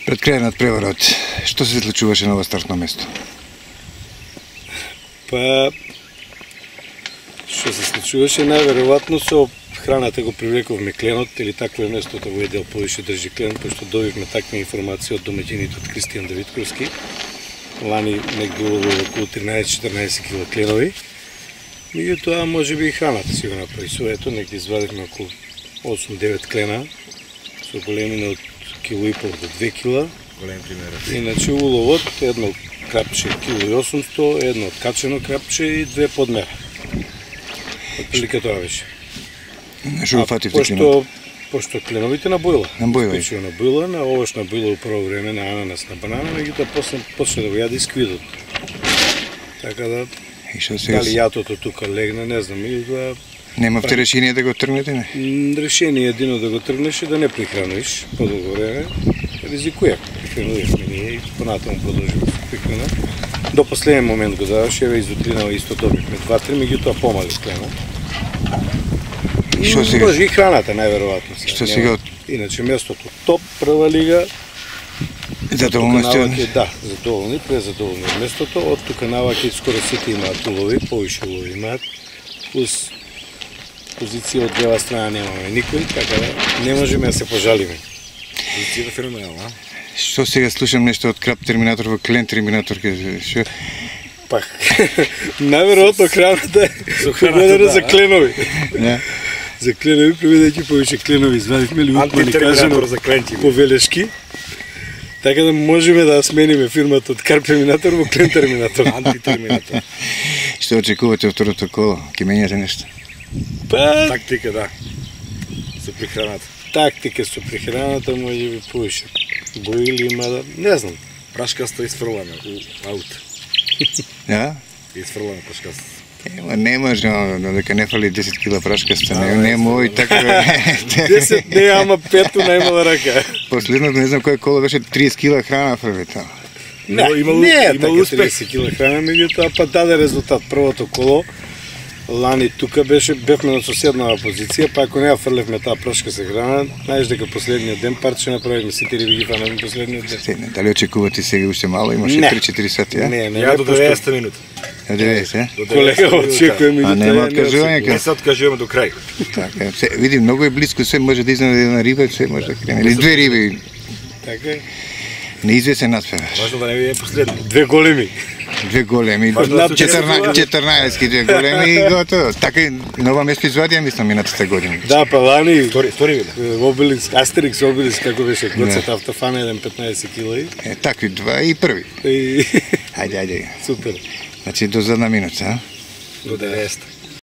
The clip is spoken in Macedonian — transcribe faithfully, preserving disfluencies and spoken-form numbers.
Пред крајот преварот, што се случуваше на ова стартно место? Па, што се случуваше, најверојатно со храната го привлековме кленот, или такво е местото во едел повише држи клен, пошто добивме таква информација од домаќините од Кристијан Давидковски. Лани негде уловил околу тринаесет-четирнаесет кила кленови. Меѓутоа, може би и храната си го направи своето, негде извадивме околу осум-девет клена, со големина од кило и пол до две кила. Голем пример. Иначе уловот, едно крапче кило и осумсто, едно откачено крапче и две подмера. Отприлика тоа беше. Што го фативте пошто, кленот? Пошто кленовите на бојла. На бојла. Спечува на бојла, на овош на бојла у прво време, на ананас, на банана, меѓутоа после почне да го јаде и сквидот. Така да, И што сега? дали јатото тука легна, не знам, меѓутоа Немавте решение да го тргнете, не? м, решение едино да го тргнеш и да не прихраниш подолго време. Ризикуја, прихранувавме ние и понатаму продолжиме со прихрана. До последен момент го даваше, еве изутринава исто добивме два-три, меѓутоа помали клена. И што сега? Може и храната, најверојатно. Што сега? Иначе местото топ, прва лига. Задоволни сте? Наваќе, да, задоволни, презадоволни од местото. Од тука наваќе скоро сите имаат улови, повише улови имаат. Плюс позиција од лева страна немаме никој, така да не можеме да се пожалиме. Позицијата феноменална. Што сега слушам нешто од Крап Терминатор во Клен Терминатор, што? Пак, најверојатно храната е погодена за кленови. Не? За кленови, приведејќи повише кленови, извадивме ли утмани, кажемо, за кленти. по велешки. Така да можеме да смениме фирмата од Карп Терминатор во Клен Терминатор. Антитерминатор. Што очекувате од второто коло? Ке менјате нешто? Па, Тактика, да. Со прихраната. тактика со прехраната може би повише. Боили има да, не знам. Прашкаста изфрлана у аут. Да? Изфрлана прашкаста. Ема не може, дека не фали десет кила прашкаста, не, не мој така. десет не, ама петто најмала рака. Последното не знам кој коло беше тридесет кила храна прве тamo. Не, Имало- имало- не е имало така успех. тридесет кила храна, меѓутоа па даде резултат првото коло. Лани тука беше, бевме на соседнава позиција, па ако не ја фрлевме таа прашка се храна, знаеш дека последниот ден парче направивме, сите риби ги фанавме последниот ден. Се, не, дали очекувате сега уште мало, имаше Не. три-четири сати, а? Не, не, Ја не, до пошто деветдесета минута. До деветдесет, е? До колега деветдесета минута. очекуваме А нема откажување Не кај? се откажуваме до крај. Така, се, види, многу е близко, се може да изнаде една риба, се може да крене. Или две риби, Така е. неизвесен наспеваш. Важно да не биде последно. Две големи. Две големи, Важно да се четрнаесет четрнаесет две големи и готово. Така и на ова место извадија, мислам, минатата година. Да, па Лани, Втори, втори биде. Обеликс, Астерикс, Обеликс, како беше, Гоцет автофана, еден петнаесет кила Е, такви два и први. и Ајде, ајде. супер. Значи, до задна минута, а? До деветдесета.